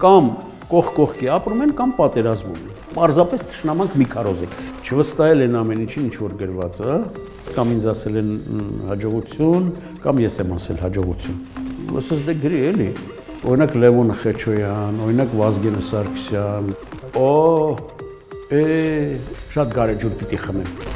կամ կողքի ապրում են, կամ պատերազմում են։ Պարզապես թշնամանք մի քարոզեք։ Չվստահել են ամեն ինչին, ինչ որ գրված է, կամ ինձ ասել են հաջողություն, կամ ես եմ ասել հաջողություն։ Ոսս դե գրի էլի։ Օրինակ Լևոն Խեչոյան, օրինակ Վազգեն Սարգսյան, շատ գարեջուր պիտի խմեմ։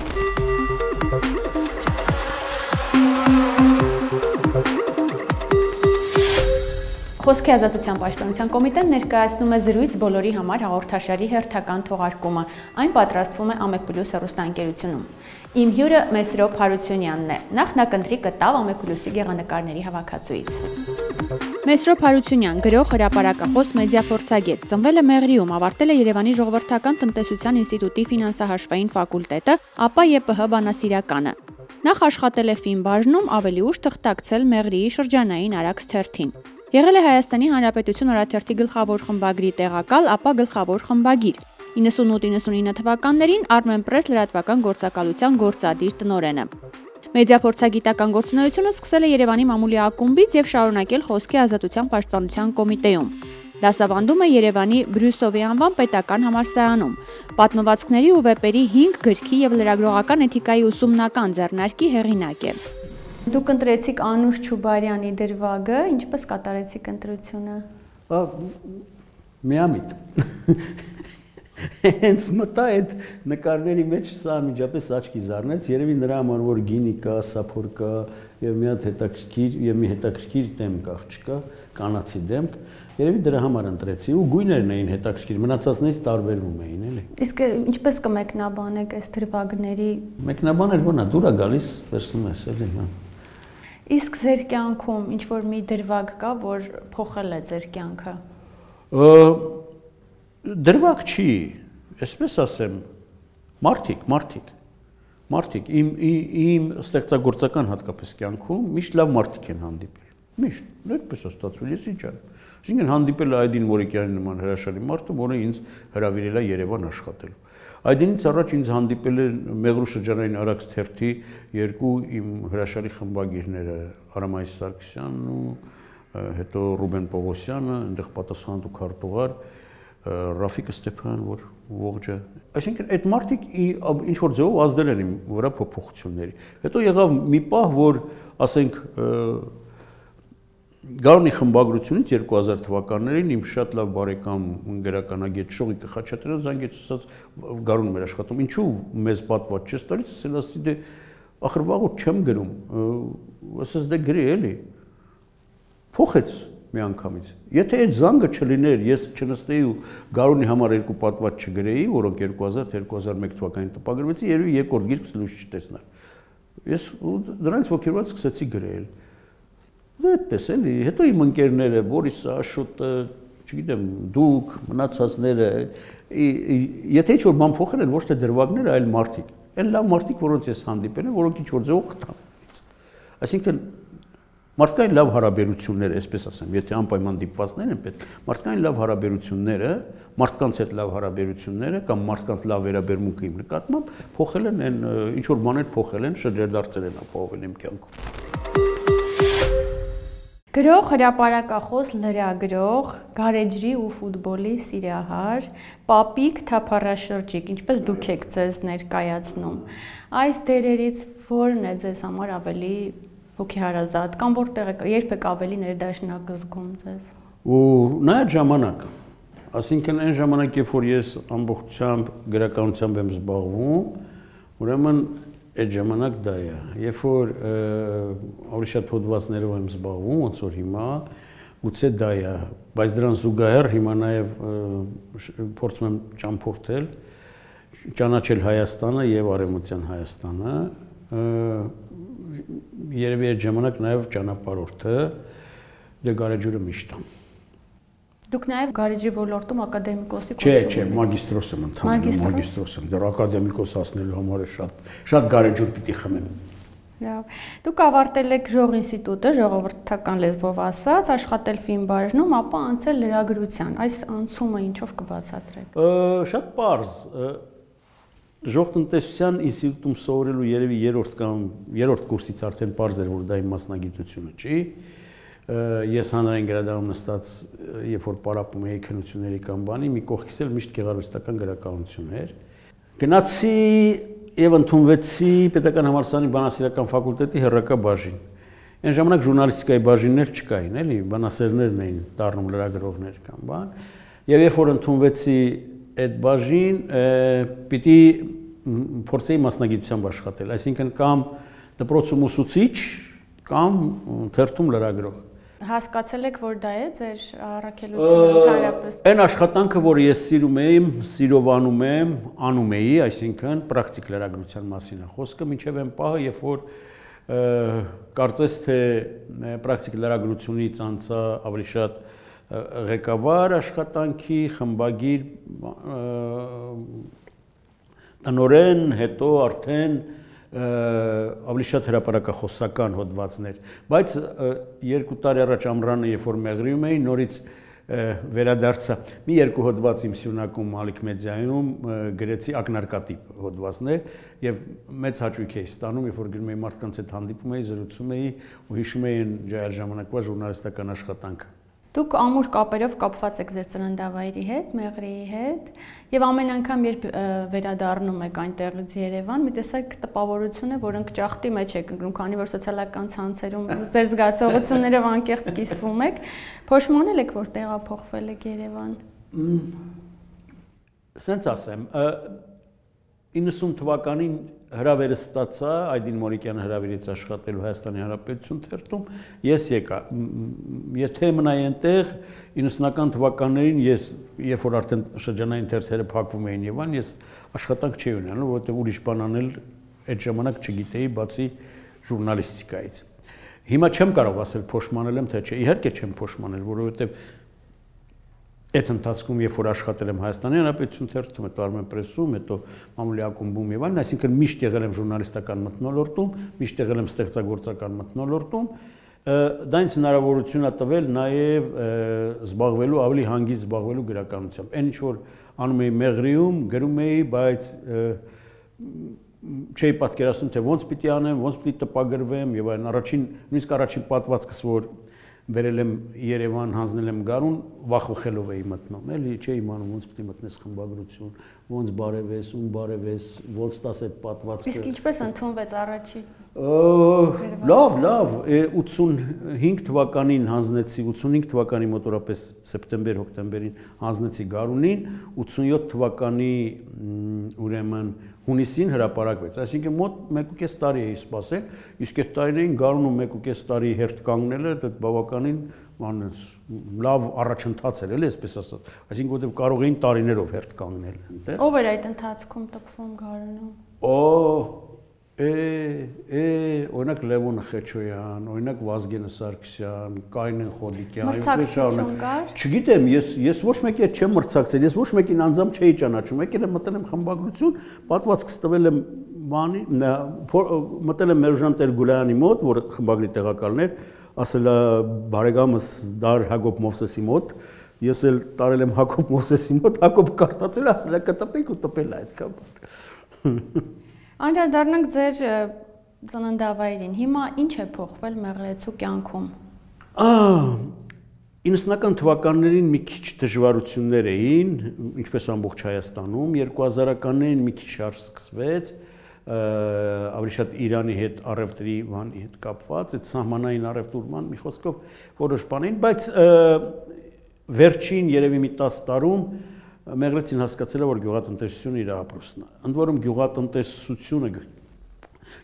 Խոսքի ազատության պաշտպանության կոմիտեն ներկայացնում է զրույց բոլորի համար հաղորդաշարի հերթական թողարկումը։ Այն պատրաստվում է Ամեկ+ հեռուստաընկերությունում։ Իմ հյուրը Մեսրոպ Հարությունյանն է։ Նախ նա կընտրի կտավ Ամեկ+-ի գեղանկարների հավաքածուից։ Մեսրոպ Հարությունյան, գրող, հրապարակախոս, մեդիափորձագետ, ծնվել է Մեղրիում, ավարտել է Երևանի ժողովրդական տնտեսության ինստիտուտի ֆինանսահաշվային ֆակուլտետը, ապա ԵՊՀ բանասիրականը։ Նախ աշխատել է ֆինբաժնում, ավելի ուշ թղթակցել Մեղրիի շրջանային Արաքս թերթին։ Եղել է Հայաստանի Հանրապետություն օրաթերթի գլխավոր խմբագրի տեղակալ, ապա գլխավոր խմբագիր։ 98-99 թվականներին Armenpress լրատվական գործակալության գործադիր տնօրենը։ Մեդիափորձագիտական գործունեությունը սկսել է Երևանի մամուլի ակումբից եւ շարունակել Խոսքի ազատության պաշտպանության կոմիտեում։ Դասավանդում է Երևանի Բրյուսովի անվան պետական համալսարանում։ Պատմվածքների ու վեպերի 5 գրքի եւ լրագրողական էթիկայի ուսումնական ձեռնարկի հեղինակ է։ Դուք ընտրեցիք Անուշ Չուբարյանի դրվագը, ինչպես կատարեցիք ընտրությունը։ Միամիտ։ Հենց մտա այդ նկարների մեջ սա միջապես աչքի զարնեց, երևի նրա համար որ գինի կա, սափոր կա եւ մի հատ հետաքրքիր դեմք աղջկա, կանացի դեմք, երևի դրա համար ընտրեցի ու գույներն էին հետաքրքիր, մնացածներից տարբերվում էին, էլի։ Իսկ ինչպես կմեկնաբանեք այս դրվագների։ Մեկնաբանել ո՞նա, դուր է գալիս, վերցնում ես, էլի, հա։ Իսկ ձեր կյանքում ինչ որ մի դրվագ կա, որ փոխել է ձեր կյանքը։ Դրվագ չի, այսպես ասեմ, մարդիկ իմ ստեղծագործական հատկապես կյանքում միշտ լավ մարդիկ են հանդիպել։ Միշտ, այդպես է ստացվել, ես ինչ անեմ։ Այսինքն հանդիպել է Այդին Մորիկյանի նման հրաշալի մարդը, որը ինձ հրավիրել է Երևան աշխատելու։ Այդինից առաջ ինձ հանդիպել են Մեղրու շրջանային Արաքս թերթի երկու իմ հրաշալի խմբագիրները, Արամայիս Սարգսյանն ու հետո Ռուբեն Պողոսյանը, այնտեղ պատասխանատու քարտուղար Ռաֆիկ Ստեփան, որ ողջը։ Այսինքն այդ մարդիկ ինչ որ ձևով ազդել են իմ վրա փոփոխությունների։ Հետո եղավ մի պահ, որ ասենք Գարունի խմբագրությունից 2000 թվականներին իմ շատ լավ բարեկամ գրականագետ Շողիկը Խաչատրյանը զանգեց, ասաց Գարունում էր աշխատում, ինչու մեզ պատված չես տալիս, ասել ասի դե ախր վաղուց չեմ գրում, ասես դե գրի էլի, փոխեց մի անգամից, եթե այդ զանգը չլիներ, ես չնստեի ու Գարունի համար երկու պատված չգրեի, որոնք 2000-2001 թվականին տպագրվեցին, երևի երկրորդ գիրքս լույս չտեսնար, ես դրանից ոգևորված սկսեցի գրել։ Դա այդպես էլի, հետո իմ ընկերները, Բորիսը, Աշոտը, չգիտեմ, դուք, մնացածները, եթե ինչ որ բան փոխել են, ոչ թե դրվագները, այլ մարդիկ։ Այն լավ մարդիկ, որոնց ես հանդիպել եմ, որոնք ինչ որ ձևով խթան։ Այսինքն մարդկային լավ հարաբերությունները, այսպես ասեմ, եթե անպայման դիպվածներ են պետք, մարդկային լավ հարաբերությունները, մարդկանց հետ լավ հարաբերությունները կամ մարդկանց լավ վերաբերմունքը իմ նկատմամբ փոխել են այն ինչ որ բաներ փոխել են, շրջադարձել են ապահովել իմ կյանքում։ Գրող, հրապարակախոս, լրագրող, գարեջրի ու ֆուտբոլի սիրահար, պապիկ, թափառաշրջիկ, ինչպես դուք եք ձեզ ներկայացնում։ Այս դերերից որն է ձեզ համար ավելի հոգեհարազատ կամ որտեղ երբ եք ավելի ներդաշնակ զգում ձեզ։ Ու նայած ժամանակ, այսինքն այն ժամանակ, երբ որ ես ամբողջությամբ գրականությամբ եմ զբաղվում, ուրեմն այդ ժամանակ դա է, երբ որ ավելի շատ հոդվածներով եմ զբաղվում, ոնց որ հիմա, գուցե դա է, բայց դրան զուգահեռ հիմա նաև փորձում եմ ճամփորդել, ճանաչել Հայաստանը եւ Արևմտյան Հայաստանը, երևի այդ ժամանակ նաև ճանապարհորդը, դե գարեջուրը միշտ է։ Դուք նաև գարեջրի ոլորտում ակադեմիկոսի Չէ, մագիստրոս եմ ընդհանրապես, մագիստրոս եմ, դեռ ակադեմիկոս հասնելու համար շատ գարեջուր պիտի խմեմ։ Լավ։ Դուք ավարտել եք Ժող ինստիտուտը, ժողովրդական լեզվով ասած, աշխատել ֆինբաժնում, ապա անցել լրագրության։ Այս անցումը ինչով կբացատրեք։ Շատ պարզ։ Ժող տնտեսության ինստիտուտում սովորելու երևի երրորդ կուրսից արդեն պարզ էր, որ դա իմ մասնագիտությունը չի։ ես հանրային գրադարանում նստած, երբ որ պարապում էի քննությունների կամ բանի, մի կողքից էլ միշտ գեղարվեստական գրականություն էր։ Գնացի եւ ընդունվեցի Պետական համալսարանի բանասիրական ֆակուլտետի հեռակա բաժին։ Այն ժամանակ ժուրնալիստիկայի բաժիններ չկային, էլի, բանասերներն էին դառնում լրագրողներ կամ բան։ Եվ երբ որ ընդունվեցի այդ բաժին, պիտի փորձեի մասնագիտությամբ աշխատել, այսինքն կամ դպրոցում ուսուցիչ, կամ թերթում լրագրող։ Հասկացել եք, որ դա է ձեր առաքելությունը ընդհանրապես։ Այն աշխատանքը, որը ես սիրում եմ, սիրովանում եմ, անում էի, այսինքն պրակտիկ լրագրության մասին է խոսքը, մինչև այն պահը, երբ որ կարծես թե պրակտիկ լրագրությունից անցա ավելի շատ ղեկավար աշխատանքի, խմբագիր տնօրեն, հետո արդեն ավելի շատ հրապարակախոսական հոդվածներ, բայց 2 տարի առաջ ամռանը, երբ որ մեղրիում էի, նորից վերադարձա մի 2 հոդված իմ սյունակում Ալիք մեդիայում գրեցի ակնարկատիպ հոդվածներ եւ մեծ հաճույք էի ստանում, երբ որ գրում էի մարդկանց հետ հանդիպում էի, զրուցում էի ու հիշում էի այն ժամանակվա ժուրնալիստական աշխատանքը։ Դուք ամուր կապերով կապված եք ձեր ծննդավայրի հետ, Մեղրիի հետ, եւ ամեն անգամ երբ վերադառնում եք այնտեղից Երևան, մի տեսակ տպավորություն է, որ ընկճախտի մեջ եք ընկնում, քանի որ սոցիալական ցանցերում ձեր զգացողություններով անկեղծ կիսվում եք, փոշմանել եք, որ տեղափոխվել եք Երևան։ Սենց ասեմ, 90 թվականին հրավերը ստացա Այդին Մորիկյանը հրավիրեց աշխատելու Հայաստանի Հանրապետություն թերթում, ես եկա, եթե մնայի այնտեղ 90-ական թվականներին ես, երբ որ արդեն շրջանային թերթերը փակվում էին Երևան, ես աշխատանք չէի ունենում, որովհետև ուրիշ բան անել այդ ժամանակ չգիտեի, բացի ժուրնալիստիկայից։ Հիմա չեմ կարող ասել փոշմանել եմ, թե չէ, իհարկե չեմ փոշմանել, որովհետև այդ ընթացքում, երբ որ աշխատել եմ Հայաստանի Հանրապետություն թերթում, հետո Armenpress-ում, հետո Մամուլի ակումբում եւ այլն, այսինքն միշտ եղել եմ ժուրնալիստական մթնոլորտում, միշտ եղել եմ ստեղծագործական մթնոլորտում, դա ինձ հնարավորություն է տվել նաեւ զբաղվելու, ավելի հանգիստ զբաղվելու գրականությամբ։ Այն ինչ որ անում էի Մեղրիում, գրում էի, բայց չէի պատկերացնում, թե ոնց պիտի անեմ, ոնց պիտի տպագրվեմ եւ այլն։ Նույնիսկ առաջին պատվածքս, որ բերել եմ Երևան, հանձնել եմ Գարուն, վախվխելով էի մտնում, էլի չէի իմանում ոնց պիտի մտնես խմբագրություն, ոնց բարևես, ում բարևես, ոնց տաս այդ պատվածքը։ Իսկ ինչպես ընդունվեց առաջի։ Լավ, 85 թվականին հանձնեցի, 85 թվականի մոտորապես սեպտեմբեր-հոկտեմբերին հանձնեցի Գարունին, 87 թվականի ուրեմն հունիսին հրապարակվեց, այսինքն մոտ 1.5 տարի էի սպասել, իսկ այդ տարիներին Գարունում 1.5 տարի հերթ կանգնելը, դա բավականին լավ առաջընթաց էր, էլի այսպես ասած, այսինքն որտեղ կարող էին տարիներով հերթ կանգնել այնտեղ։ Ով էր այդ ընթացքում տպվում Գարունում։ Օրինակ Լևոն Խեչոյան, օրինակ Վազգենը Սարգսյան, Կայնեն Խոդիկյան, մրցակցություն կար։ Չգիտեմ, ես ոչ մեկի հետ չեմ մրցակցել, ես ոչ մեկին անձամբ չէի ճանաչում, եկել եմ մտել եմ խմբագրություն, պատվածքս տվել եմ բանի, մտել եմ Մերժան Տեր-Գուլյանի մոտ, որ խմբագրի տեղակալն էր, ասել է բարեկամս դար Հակոբ Մովսեսի մոտ, ես էլ տարել եմ Հակոբ Մովսեսի մոտ, Հակոբը կարդացել, ասել է կտպենք ու տպել է այդքան։ Անդրադառնանք ձեր ծննդավայրին, հիմա ինչ է փոխվել Մեղրիեցու կյանքում։ 90-ական թվականներին մի քիչ դժվարություններ էին, ինչպես ամբողջ Հայաստանում, 2000-ականներին մի քիչ շարժ սկսվեց, ավելի շատ Իրանի հետ առևտրի բանի հետ կապված, այդ սահմանային առևտուրման մի խոսքով որոշ բան էին, բայց վերջին երևի մի 10 տարում Մեղրիեցին հասկացել է, որ գյուղատնտեսությունը իր ապրուստն է։ Ընդ որում գյուղատնտեսությունը,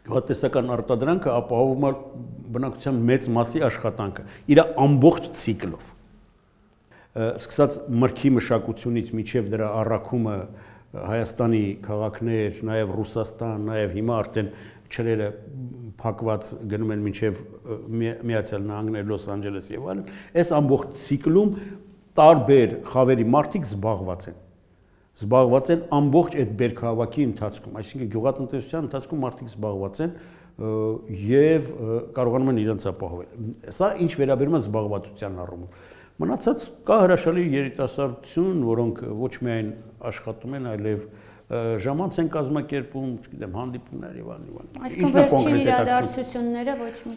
գյուղատնտեսական արտադրանքը ապահովում է բնակչության մեծ մասի աշխատանքը, իր ամբողջ ցիկլով։ Սկսած մրգի մշակությունից մինչև դրա առաքումը Հայաստանի քաղաքներ, նաև Ռուսաստան, նաև հիմա արդեն չրերը փակված գնում են մինչև Միացյալ Նահանգներ, Լոս Անջելես եւ այլն, այս ամբողջ ցիկլում տարբեր խավերի մարդիկ զբաղված են ամբողջ այդ բերքահավաքի ընթացքում, այսինքն գյուղատնտեսության ընթացքում մարդիկ զբաղված են եւ կարողանում են իրենց ապահովել։ Սա ինչ վերաբերում է զբաղվածության առումով։ Մնացած կա հրաշալի երիտասարդություն, որոնք ոչ միայն աշխատում են, այլև ժամանց են կազմակերպում, չգիտեմ, հանդիպումներ եւ այլն։ Այսինքն վերջին իրադարձությունները ոչ մի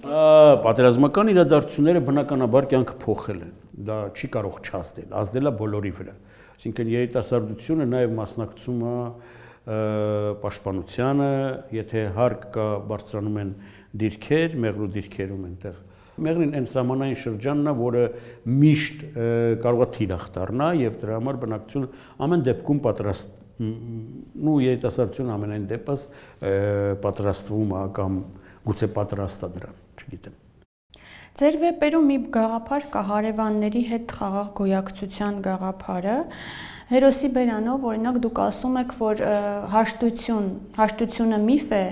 պատերազմական իրադարձությունները բնականաբար կյանքը փոխել են։ Դա չի կարող չազդել, ազդել է բոլորի վրա։ Այսինքն երիտասարդությունը նաեւ մասնակցում է պաշտպանությանը, եթե հարկ կա, բարձրանում են դիրքեր, մեղրու դիրքերում այնտեղ։ Մեղրին այն սահմանային շրջանն է, որը միշտ կարող է թիրախ դառնա եւ դրա համար բնակչությունը ամեն դեպքում պատրաստ երիտասարդությունը ամենայն դեպս պատրաստվում է կամ գուցե պատրաստ է դրան, չգիտեմ։ Ձեր վեպերում մի գաղափար կա հարևանների հետ խաղաղ գոյակցության գաղափարը։ Հերոսի բերանով, օրինակ, դուք ասում եք, որ հաշտությունը միֆ է,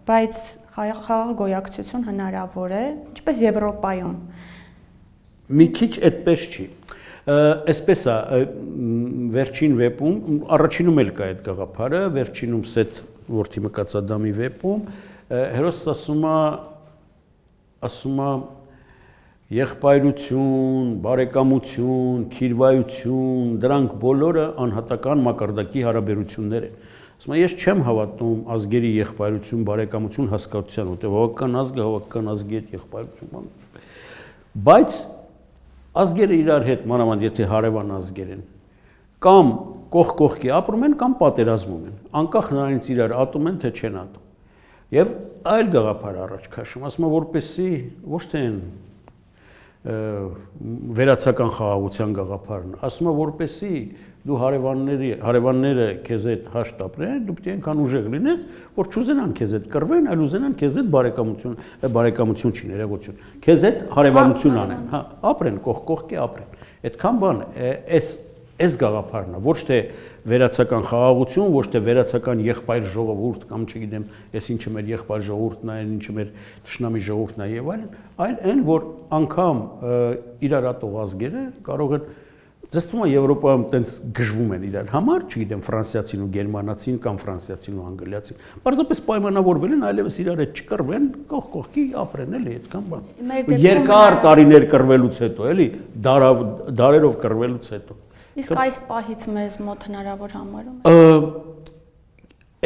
բայց խաղաղ գոյակցություն հնարավոր է, ինչպես Եվրոպայում։ Մի քիչ այդպես չի։ Այսպես է, վերջին վեպում, առաջինում էլ կա այդ գաղափարը, վերջինում Սեթ որդի Մկացադամի վեպում, հերոսը ասում է եղբայրություն, բարեկամություն, քիրվայություն, դրանք բոլորը անհատական մակարդակի հարաբերություններ են։ Ասում եմ, ես չեմ հավատում ազգերի եղբայրություն, բարեկամություն հասկացության, որտեղ հավաքական ազգը հավաքական ազգի հետ եղբայրություն։ Բայց ազգերը իրար հետ, մանավանդ եթե հարևան ազգեր են, կամ կողք կողքի ապրում են, կամ պատերազմում են, անկախ նրանից իրար ատում են, թե չեն ատում։ Եվ այլ գաղափար առաջ քաշում, ասում եմ, որպեսզի ոչ թե վերացական խաղաղության գաղափարն, ասում եմ, որպեսզի դու հարևանները քեզ հետ հաշտ ապրեն, դու պետք է այնքան ուժեղ լինես, որ չուզենան քեզ հետ կռվեն, այլ ուզենան քեզ հետ բարեկամություն չի, ներողություն, քեզ հետ հարևանություն անեն, հա, ապրեն, կողք կողքի ապրեն։ Այդքան բան, այս գաղափարն է, ոչ թե վերացական խաղաղություն, ոչ թե վերացական եղբայր ժողովուրդ կամ չգիտեմ, ես ինչը մեր եղբայր ժողովուրդն է, ինչը մեր թշնամի ժողովուրդն է եւ այլն, այլ այն, որ անգամ իրար ատող ազգերը կարող են Ձեզ թվում է Եվրոպայում տենց գժվում են իրար համար, չգիտեմ, ֆրանսիացին ու գերմանացին կամ ֆրանսիացին ու անգլիացին։ Պարզապես պայմանավորվել են այլևս իրար հետ չկռվեն, կողք կողքի ապրեն, էլի, այդքան բան։ Երկար տարիներ կռվելուց հետո, էլի, դարերով կռվելուց հետո։ Իսկ այս պահից մեզ մոտ հնարավոր համարում։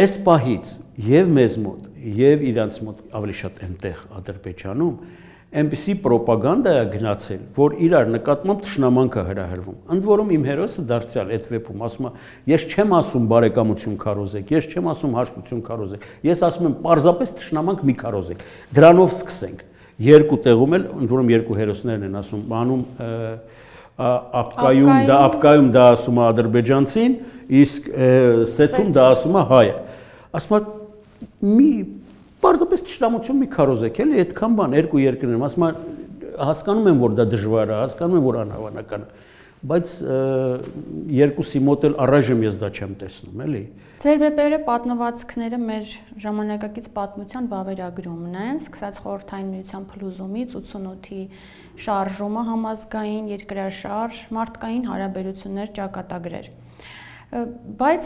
Այս պահից եւ մեզ մոտ, եւ իրանց մոտ ավելի շատ այնտեղ Ադրբեջանում այնպիսի պրոպագանդա է գնացել, որ իրար նկատմամբ թշնամանք է հրահրվում։ Ընդ որում իմ հերոսը դարձյալ այդ վեպում ասում է, ես չեմ ասում բարեկամություն քարոզեք, ես չեմ ասում հաշտություն քարոզեք, ես ասում եմ պարզապես թշնամանք մի քարոզեք։ Դրանով սկսենք։ Երկու տեղում էլ, ընդ որում երկու հերոսներն են ասում, բանում ապկայում դա ասում է ադրբեջանցին, իսկ Սեթում դա ասում է հայը։ Ասում է մի պարզապես թշնամություն մի քարոզեք, էլի այդքան բան, երկու երկրներում, ասում եմ, հասկանում եմ, որ դա դժվար է, հասկանում եմ, որ անհավանական է, բայց երկուսի մոտ էլ առայժմ ես դա չեմ տեսնում, էլի։ Ձեր վեպերը պատմվածքները մեր ժամանակակից պատմության վավերագրումն են, սկսած Խորհրդային Միության փլուզումից 88-ի շարժումը համազգային, երկրաշարժ, մարդկային հարաբերություններ, ճակատագրեր։ Բայց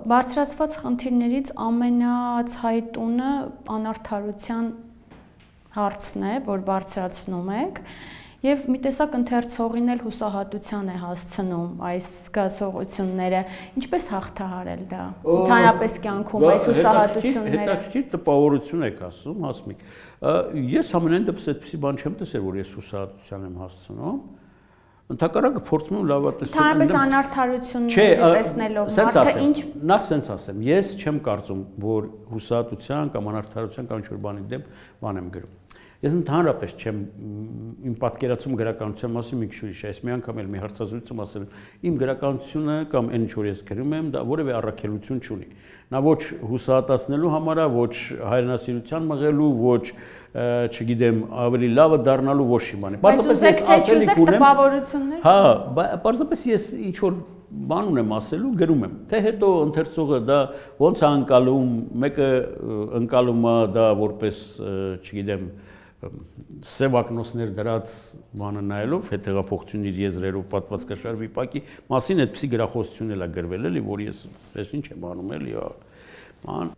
բարձրացված խնդիրներից ամենացայտունը անարդարության հարցն է, որ բարձրացնում եք, եւ մի տեսակ ընթերցողին էլ հուսահատության է հասցնում այս զգացողությունները, ինչպես հաղթահարել դա ընդհանրապես կյանքում այս հուսահատությունները։ Հետաքրքիր տպավորություն եք ասում, Հասմիկ։ Ես ամենայն դեպս այդպիսի բան չեմ տեսել, որ ես հուսահատության եմ հասցնում։ Ընդհակառակը փորձում եմ լավատեսել։ Ընդհանրապես անարդարությունները տեսնելով մարդը ինչ նախ սենց ասեմ, ես չեմ կարծում, որ հուսահատության կամ անարդարության կամ ինչ-որ բանի դեմ բան եմ գրում։ Ես ընդհանրապես չեմ իմ պատկերացում գրականության մասին մի քիչ ուրիշ է, այս մի անգամ էլ մի հարցազրույցում ասել եմ, իմ գրականությունը կամ այն ինչ որ ես գրում եմ, դա որևէ առաքելություն չունի։ Նա ոչ հուսահատացնելու համար է, ոչ հայրենասիրության մղելու, ոչ չգիտեմ, ավելի լավը դառնալու ոչ մի բան։ Պարզապես ես ասելիք ունեմ։ Հա, պարզապես ես ինչ որ բան ունեմ ասելու, գրում եմ։ Թե հետո ընթերցողը դա ոնց է անցալում, մեկը անցալում է դա որպես, չգիտեմ, սևակնոսներ դրած բանը նայելով, հետեղափոխություն իր եզրերով պատմվածքաշար վիպակի մասին այդպիսի գրախոսություն էլ է գրվել, էլի, որ ես ես ինչ եմ անում, էլի, ման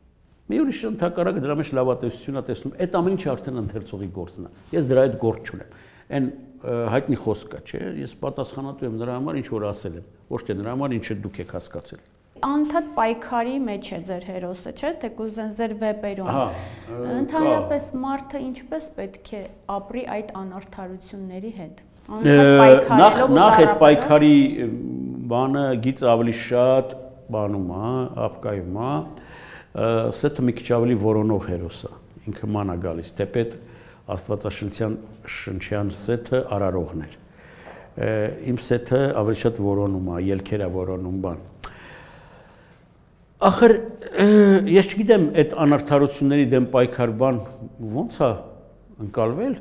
մի ուրիշ ընդհակառակը դրա մեջ լավատեսություն է տեսնում, այդ ամեն ինչը արդեն ընթերցողի գործն է։ Ես դրա այդ գործ չունեմ։ Այն հայտնի խոսք կա, չէ՞, ես պատասխանատու եմ նրա համար, ինչ որ ասել եմ, ոչ թե նրա համար, ինչը դուք եք հասկացել։ Անդադ պայքարի մեջ է ձեր հերոսը, չէ՞, թեկուզ ձեր վեպերում։ Ընդհանրապես մարդը ինչպես պետք է ապրի այդ անարդարությունների հետ։ Նախ այդ պայքարի բանը գից ավելի շատ բանում է, ապկայում է, սեթը մի քիչ ավելի որոնող հերոս է, ինքը ման է գալիս, թեպետ Աստվածաշնչյան սեթը արարողն էր։ Իմ սեթը ավելի շատ որոնում է, ելքեր է որոնում բան։ Ախր ես չգիտեմ այդ անարդարությունների դեմ պայքար բան ոնց է ընկալվել։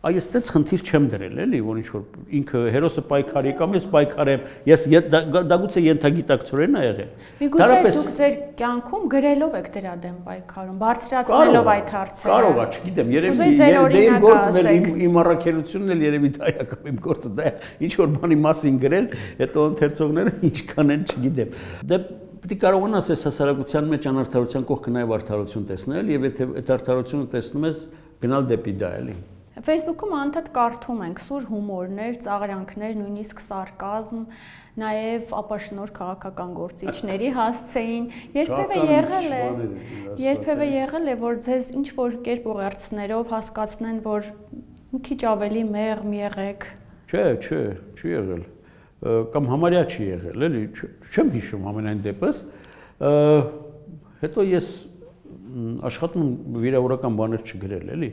Այս այդպես խնդիր չեմ դրել, էլի, որ ինչ որ ինքը հերոսը պայքարի կամ ես պայքարեմ, ես դա գուցե ենթագիտակցորեն է եղել։ Միգուցե դուք ձեր կյանքում գրելով եք դրա դեմ պայքարում, բարձրացնելով այդ հարցերը։ Կարող է, չգիտեմ, երևի իմ գործն էլ իմ առաքելությունն էլ երևի դա է կամ իմ գործը դա է, ինչ որ բանի մասին գրել, հետո ընթերցողները ինչքան են, չգիտեմ։ Դե պետք է կարողանաս այս հասարակության մեջ անարդարության կողքը նաև արդարություն տեսնել եւ եթե այդ արդարությունը տեսնում ես գնալ դեպի դա էլի։ Facebook-ում անդադ կարդում ենք սուր հումորներ, ծաղրանքներ, նույնիսկ սարկազմ, նաև ապաշնոր քաղաքական գործիչների հասցեին, երբևէ եղել է, որ ձեզ ինչ-որ կերպ ուղերձներով հասկացնեն, որ մի քիչ ավելի մեղմ եղեք։ Չէ, չի եղել։ Կամ համարյա չի եղել, էլի, չեմ հիշում ամենայն դեպս, հետո ես աշխատում վիրավորական բաներ չգրել, էլի։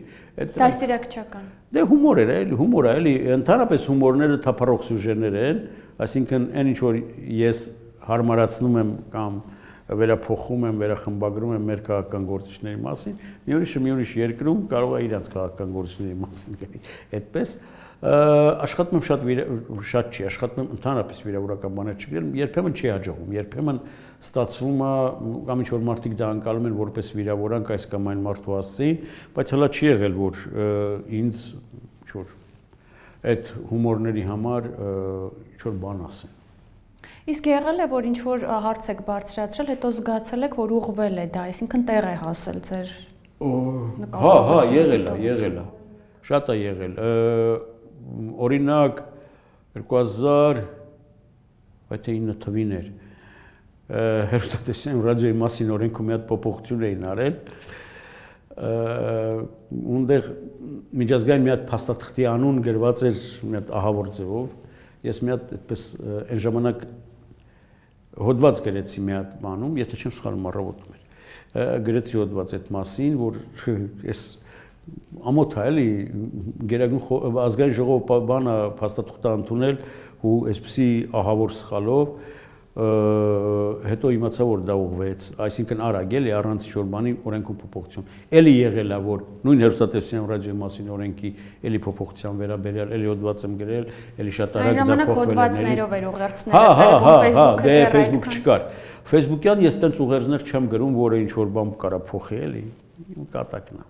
Դաստիարակչական։ Դե հումոր էր, էլի, հումոր է, էլի, ընդհանրապես հումորները թափառող սյուժեներ են, այսինքն այն ինչ որ ես հարմարացնում եմ կամ վերափոխում եմ, վերախմբագրում եմ մեր քաղաքական գործիչների մասին, մի ուրիշ երկրում կարող է իրենց քաղաքական գործիչների մասին գրի, այդպես աշխատում եմ շատ չի, աշխատում եմ ընդհանրապես վիրավորական բաներ չգրել, երբեմն չի հաջողվում, երբեմն ստացվում է կամ ինչ-որ մարդիկ դա անցալում են որպես վիրավորանք այս կամ այն մարդու հասցեին, բայց հələ չի եղել, որ ինձ ինչ-որ այդ հումորների համար ինչ-որ բան ասեն։ Իսկ եղել է, որ ինչ-որ հարց եք բարձրացրել, հետո զգացել եք, որ ուղղվել է դա, այսինքն տեղ է հասել ձեր Հա, եղել է, շատ է եղել։ Օրինակ 2009 թվին էր հեռուստատեսության ռադիոյի մասին օրենքում մի հատ փոփոխություն էին արել, ունտեղ միջազգային մի հատ փաստաթղթի անուն գրված էր մի հատ ահավոր ձևով, ես մի հատ այդպես այն ժամանակ հոդված գրեցի մի հատ բանում, եթե չեմ սխալվում առավոտում էր, գրեցի հոդված այդ մասին, որ ես ամոթ է, էլի, գերագույն ազգային ժողովը բանը փաստաթուղթ ընդունել ու այսպիսի ահավոր սխալով, հետո իմացա, որ դա ուղղվեց, այսինքն արագ էլի առանց ինչ-որ բանի օրենքում փոփոխություն։ Էլի եղել է, որ նույն հեռուստատեսության ռադիոյի մասին օրենքի էլի փոփոխության վերաբերյալ, էլի հոդված եմ գրել, էլի շատ արագ դա փոխվել է։ Այն ժամանակ հոդվածներով էր ուղերձները, դե Facebook չկար։ Facebook-յան ես տենց ուղերձներ չեմ գրում, որը ինչ-որ բան կարա փոխի, էլի, կատակն է։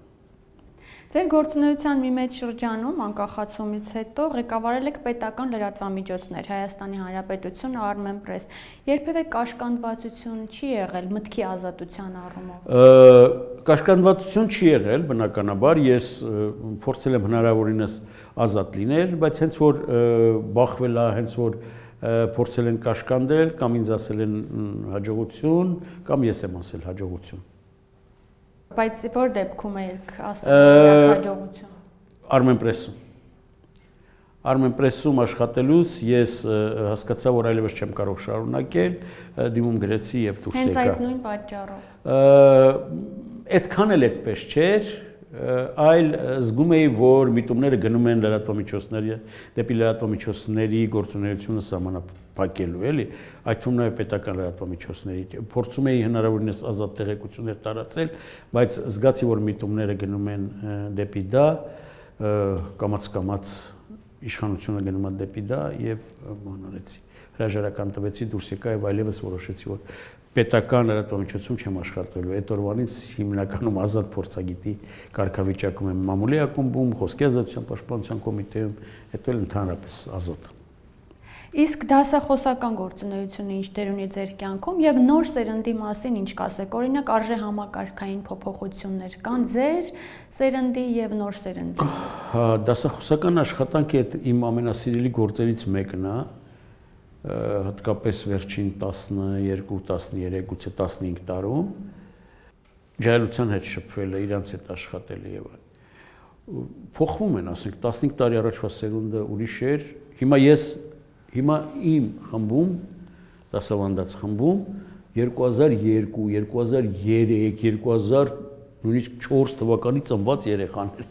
Ձեր գործունեության մի մեծ շրջանում անկախացումից հետո ղեկավարել եք պետական լրատվամիջոցներ, Հայաստանի Հանրապետություն, Armenpress։ Երբևէ կաշկանդվածություն չի եղել մտքի ազատության առումով։ Կաշկանդվածություն չի եղել, բնականաբար, ես փորձել եմ հնարավորինս ազատ լինել, բայց հենց որ բախվել է, հենց որ փորձել են կաշկանդել, կամ ինձ ասել են հաջողություն, կամ ես եմ ասել հաջողություն։ Բայց որ դեպքում եք ասել հաջողություն։ Armenpress-ում աշխատելուց ես հասկացա, որ այլևս չեմ կարող շարունակել, դիմում գրեցի եւ դուրս եկա։ Հենց այդ նույն պատճառով։ Այդքան էլ այդպես չէր, այլ զգում էի, որ միտումները գնում են լրատվամիջոցների, դեպի լրատվամիջոցների գործունեությունը սահմանափակելու, էլի, այդ թվում նաև պետական լրատվամիջոցների։ Փորձում էի հնարավորինս ազատ տեղեկություններ տարածել, բայց զգացի, որ միտումները գնում են դեպի դա, կամաց իշխանությունը գնում է դեպի դա եւ մանարեցի։ Հրաժարական տվեցի, դուրս եկա եւ այլևս որոշեցի, որ պետական լրատվամիջոցում չեմ աշխատելու։ Այդ օրվանից հիմնականում ազատ փորձագետի կարգավիճակում եմ մամուլի ակումբում, խոսքի ազատության պաշտպանության կոմիտեում, հետո էլ ընդհանրապես ազատ։ Իսկ դասախոսական գործունեությունը ինչ դեր ունի ձեր կյանքում եւ նոր սերնդի մասին ինչ կասեք։ Օրինակ արժե համակարգային փոփոխություններ կան ձեր սերնդի եւ նոր սերնդի։ Հա, դասախոսական աշխատանքը իմ ամենասիրելի գործերից մեկն է։ հատկապես վերջին 12-13, գուցե 15 տարում ջահելության հետ շփվել է, իրանց հետ աշխատել է եւ այլն։ Փոխվում են, ասենք 15 տարի առաջվա սերունդը ուրիշ էր։ Հիմա իմ խմբում, դասավանդած խմբում 2002, 2003, 2000 նույնիսկ 4 թվականի ծնված երեխաներ։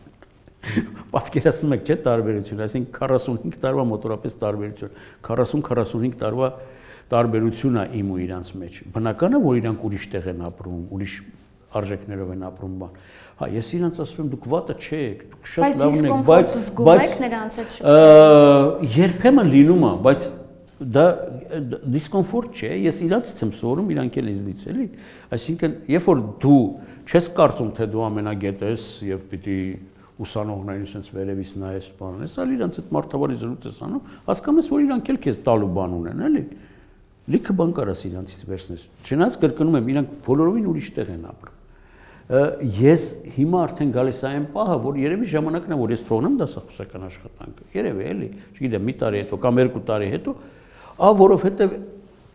Պատկերացնում եք, չէ՞ տարբերությունը, այսինքն 45 տարվա մոտորապես տարբերություն, 40-45 տարվա տարբերություն է իմ ու իրանց մեջ։ Բնական է, որ իրանք ուրիշ տեղ են ապրում, ուրիշ արժեքներով են ապրում բան։ Հա, ես իրանց ասում եմ, դուք վատը չեք, դուք շատ լավն եք, բայց երբեմն լինում է, բայց դա դիսկոմֆորտ չէ, ես իրանցից եմ սովորում, իրանք էլ ինձնից էլի, այսինքն, երբ որ դու չես կարծում, թե դու ամենագետ ես եւ պիտի ուսանողներին sense վերևից նայես բան ես, այլ իրանց այդ մարդավարի զրույց ես անում, հասկանում ես, որ իրանք էլ քեզ տալու բան ունեն, էլի։ Լիքը բան կարաս իրանցից վերցնես։ Չնայած կրկնում եմ, իրանք բոլորովին ուրիշ տեղ են ապրում։ Ես հիմա արդեն գալիս այն պահը, որ երևի ժամանակն է, որ ես թողնեմ դասախոսական աշխատանքը։ Երևի էլի, չգիտեմ, մի տարի հետո կամ 2 տարի հետո, որովհետև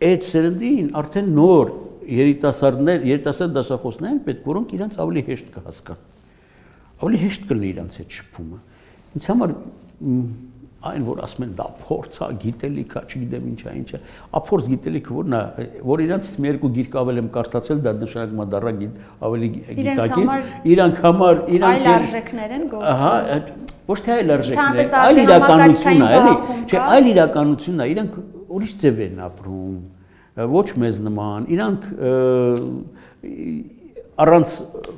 այդ սերնդին արդեն նոր երիտասարդ դասախոսներ են պետք, որոնք իրանց ավելի հեշտ կհասկանան։ Ավելի հեշտ կլինի իրանց այդ շփումը։ Ինձ համար այն որ ասում են դա փորձ է, գիտելիք է, չգիտեմ ինչա, ափորձ գիտելիքը որն է, որ իրանցից մի երկու գիրք ավել եմ կարդացել, դա նշանակում է դառա ավելի գիտակից, իրանք համար այլ արժեքներ են գործում։ Ահա, ոչ թե այլ արժեքներ, այլ իրականություն է, էլի, չէ, այլ իրականությունն է, իրանք ուրիշ ձև են ապրում, ոչ մեզ նման, իրանք առանց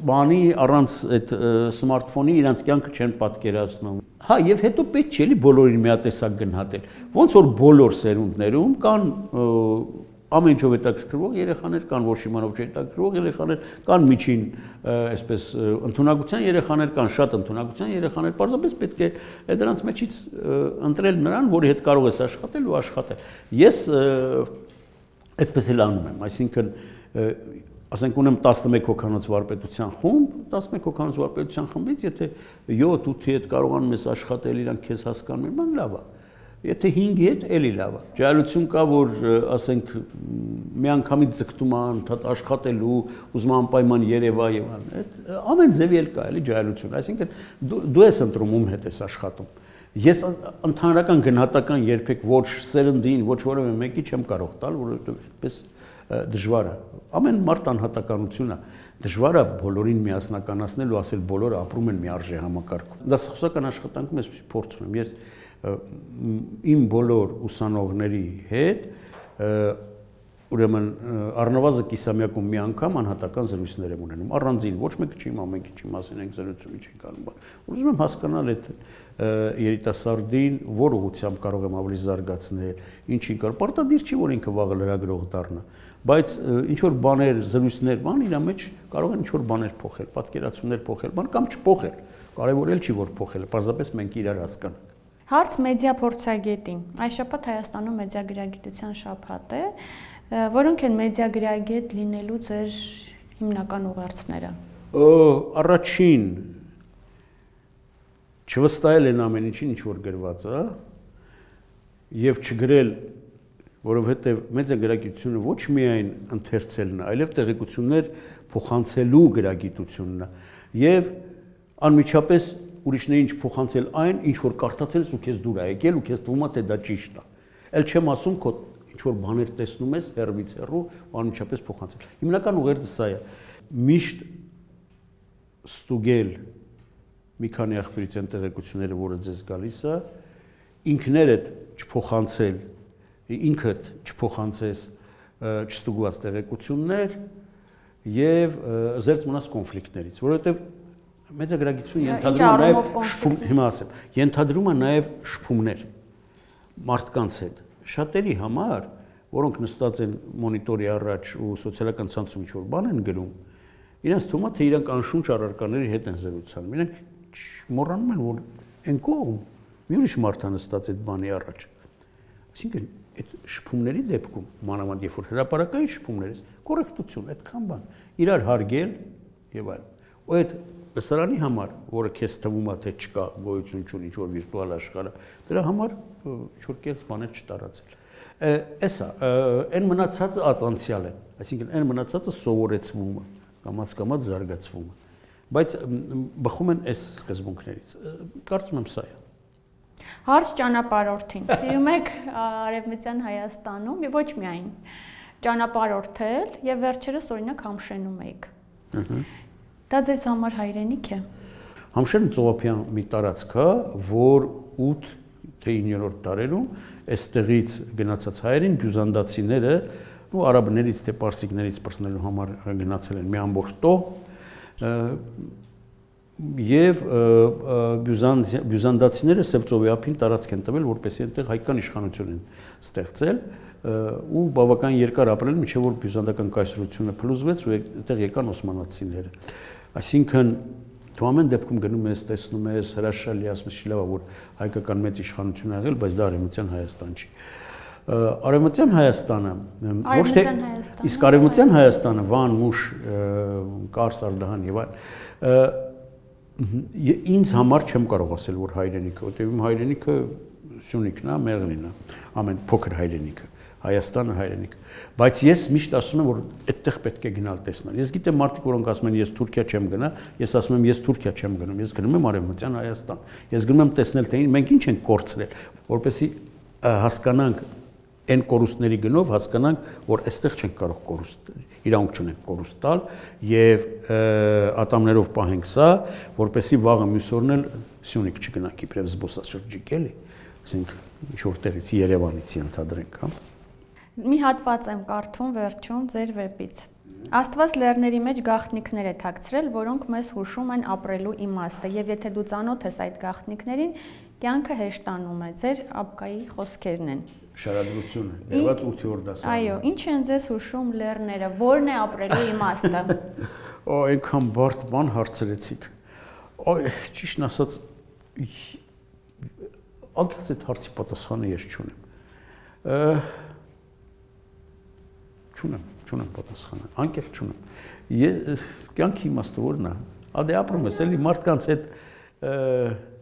բանի, առանց այդ սմարթֆոնի իրանց կյանքը չեն պատկերացնում։ Հա, եւ հետո պետք չէ էլի բոլորին միատեսակ գնահատել։ Ոնց որ բոլոր սերունդներում կան ամեն ինչով հետաքրքրող երեխաներ, կան ոչ իմանով չհետաքրքրող երեխաներ, կան միջին, այսպես ընդունակության երեխաներ, կան շատ ընդունակության երեխաներ, պարզապես պետք է դրանց մեջից ընտրել նրան, որի հետ կարող ես աշխատել ու աշխատել։ Ես այդպես էլ անում եմ, այսինքն ասենք ունեմ 11 հոգանոց վարպետության խումբ, 11 հոգանոց վարպետության խմբից, եթե 7-8-ի հետ կարողանում ես աշխատել, իրանք քեզ հասկանում են, բան լավ է։ Եթե 5-ի հետ էլի լավ է։ Ջահելություն կա, որ ասենք մի անգամից ձգտում է անդադ աշխատելու, ուզում է անպայման Երևա եւ այլն։ Այդ ամեն ձևի էլ կա, էլի ջահելություն, այսինքն դու ես ընտրում ում հետ ես աշխատում։ Ես ընդհանրական գնահատական երբեք ոչ սերնդին, ոչ որևէ մեկի չեմ կարող տալ, որովհետեւ այդպես դժվար է։ Ամեն մարդ անհատականություն է։ Դժվար է բոլորին միասնականացնել ու ասել բոլորը ապրում են մի արժե համակարգում։ Դասախոսական աշխատանքում ես փորձ ունեմ։ Ես իմ բոլոր ուսանողների հետ ուրեմն առնվազն կիսամյակում մի անգամ անհատական զրույցներ եմ ունենում։ Առանձին ոչ մեկը չի իմ ամենքի չի մասին ենք զրույցում չենք անում։ Ուզում եմ հասկանալ այդ երիտասարդին որ ուղղությամբ կարող եմ ավելի զարգացնել, ինչին կարող։ Պարտադիր չի որ ինքը վաղը լրագրող դառնա, բայց ինչ որ բաներ, զրույցներ, բան իր մեջ կարող են ինչ որ բաներ փոխել, պատկերացումներ փոխել, բան կամ չփոխել։ Կարևոր էլ չի որ փոխելը, պարզապես մենք իրար հասկանանք։ Հարց մեդիա փորձագետին։ Այս շաբաթ Հայաստանում մեդիագրագիտության շաբաթ է, որոնք են մեդիագրագետ լինելու ձեր հիմնական ուղերձները։ Առաջին չվստահել են ամեն ինչին, ինչ որ գրված է, եւ չգրել, որովհետեւ մեդիագրագիտությունը ոչ միայն ընթերցելն է, այլև տեղեկություններ փոխանցելու գրագիտությունն է եւ անմիջապես ուրիշներին չփոխանցել այն, ինչ որ կարդացել ես ու քեզ դուր է եկել ու քեզ թվում է թե դա ճիշտ է։ Էլ չեմ ասում քո ինչ որ բաներ տեսնում ես հեռվից հեռու, անմիջապես փոխանցել։ Հիմնական ուղերձը սա է։ Միշտ ստուգել մի քանի աղբյուրից են տեղեկությունները, որը ձեզ գալիս է, ինքներդ չփոխանցել, ինքդ չփոխանցես չստուգված տեղեկություններ եւ զերծ մնաս կոնֆլիկտներից, որովհետեւ մեդիագրագիտությունը ենթադրում է նաեւ շփումներ մարդկանց հետ։ Շատերի համար, որոնք նստած են մոնիտորի առաջ ու սոցիալական ցանցում ինչ-որ բան են գրում, իրենց թվում է թե իրանք անշունչ առարկաների հետ են զրուցանում։ Իրենք մոռանում են, որ այն կողմ մի ուրիշ մարդ է նստած այդ բանի առաջ։ Այսինքն այդ շփումների դեպքում, մանավանդ երբ որ հրապարակային շփումներ, կոռեկտություն, այդքան բան, իրար հարգել եւ այլն։ Ու այդ լսարանի համար, որը քեզ թվում է թե չկա գոյություն չունի ինչ որ վիրտուալ աշխարհը, դրա համար ինչ որ կերպ բաներ չտարածել։ Էսա, այն մնացածը ածանցիալ է, այսինքն այն մնացածը սովորեցվում է, կամաց զարգացվում է, բայց բխում են այս սկզբունքներից։ Կարծում եմ սա է։ Հարց ճանապարհորդին։ Սիրում եք Արևմտյան Հայաստանում եւ ոչ միայն ճանապարհորդել եւ վերջերս օրինակ Համշենում եք։ Դա ձեզ համար հայրենիք է։ Համշենը ծովափյան մի տարածք է, որ 8 թե 9-րդ դարերում այստեղից գնացած հայերին բյուզանդացիները ու արաբներից թե պարսիկներից պրծնելու համար գնացել են մի ամբողջ տող եւ բյուզանդացիները Սևծովի տարածք են տվել, որպեսզի այնտեղ հայկական իշխանություն են ստեղծել ու բավական երկար ապրել, մինչեւ որ բյուզանդական կայսրությունը փլուզվեց ու այնտեղ եկան օսմանացիները։ Այսինքն դու ամեն դեպքում գնում ես, տեսնում ես, հրաշալի ասում ես, լավ է, որ հայկական մեծ իշխանություն ա եղել, բայց դա Արևմտյան Հայաստան չի։ Արևմտյան Հայաստանը ոչ թե իսկ Արևմտյան Հայաստանը Վան, Մուշ, Կարս, Արդահան եւ այլն ինձ համար չեմ կարող ասել, որ հայրենիքը, որտեղ իմ հայրենիքը Սյունիքն է, Մեղրին է, ամեն փոքր հայրենիքը, Հայաստանը հայրենիքը, բայց ես միշտ ասում եմ, որ այդտեղ պետք է գնալ տեսնել։ Ես գիտեմ մարդիկ, որոնք ասում են, ես Թուրքիա չեմ գնա, ես ասում եմ, ես Թուրքիա չեմ գնում, ես գնում եմ Արևմտյան Հայաստան։ Ես գնում եմ տեսնել, թե մենք ինչ ենք կորցրել, որպեսզի հասկանանք այն կորուստների գնով հասկանանք, որ այստեղ չենք կարող կորուստ, իրանք չունենք կորուստ տալ եւ ատամներով պահենք սա, որպեսզի վաղը մյուս օրն էլ Սյունիք չգնանք իբրև զբոսաշրջիկ էլի, ասենք ինչ որտեղից Երևանից ենթադրենք, հա։ Մի հատված եմ կարդում վերջում ձեր վեպից։ Աստված լեռների մեջ գաղտնիքներ է թաքցրել, որոնք մեզ հուշում են ապրելու իմաստը, եւ եթե դու ծանոթ ես այդ գաղտնիքներին, կյանքը հեշտանում է, ձեր ապկայի խոսքերն են։ Շարադրությունը, եղած 8-րդ դասարանում։ Այո, ինչ են ձեզ հուշում լեռները, որն է ապրելու իմաստը։ Օ, այնքան բարդ բան հարցրեցիք։ Օ, ճիշտն ասած, անկեղծ այդ հարցի պատասխանը ես չունեմ։ Չունեմ պատասխանը, անկեղծ չունեմ։ Կյանքի իմաստը որն է։ Ադե ապրում ես, էլի մարդկանց հետ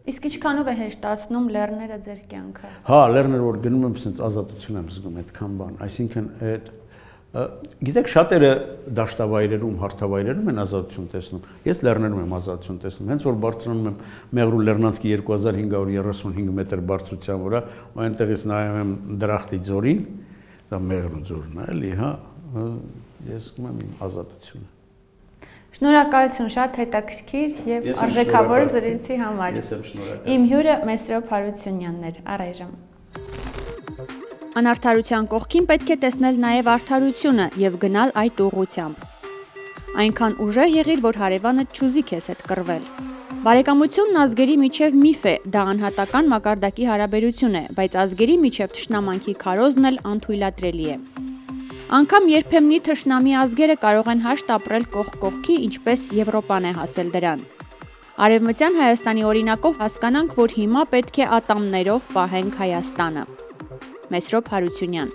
Իսկ ինչքանով է հեշտացնում լեռները ձեր կյանքը։ Հա, լեռները որ գնում եմ, ասենց ազատություն եմ զգում, այդքան բան։ Այսինքն այդ գիտեք շատերը դաշտավայրերում, հարթավայրերում են ազատություն տեսնում։ Ես լեռներում եմ ազատություն տեսնում։ Հենց որ բարձրանում եմ Մեղրու Լեռնանցքի 2535 մետր բարձրության վրա, ու այնտեղից նայում եմ Դրախտի ձորին, դա Մեղրու ձորն է, էլի, հա, ես զգում եմ իմ ազատությունը։ Շնորհակալություն, շատ հետաքրքիր եւ արժեքավոր զրույցի համար։ Ես եմ շնորհակալ։ Իմ հյուրը Մեսրոպ Հարությունյանն էր, առայժմ։ Անարդարության կողքին պետք է տեսնել նաեւ արդարությունը եւ գնալ այդ ուղղությամբ։ Այնքան ուժեղ եղիր, որ հարևանը չուզի քեզ հետ կռվել։ Բարեկամությունն ազգերի միջև միֆ է, դա անհատական մակարդակի հարաբերություն է, բայց ազգերի միջև թշնամանքի քարոզն էլ անթույլատրելի է։ Անկամ երբեմնի թշնամի ազգերը կարող են հաշտ ապրել կողք կողքի, ինչպես Եվրոպան է հասել դրան։ Արևմտյան Հայաստանի օրինակով հասկանանք, որ հիմա պետք է ատամներով պահենք Հայաստանը։ Մեսրոպ Հարությունյան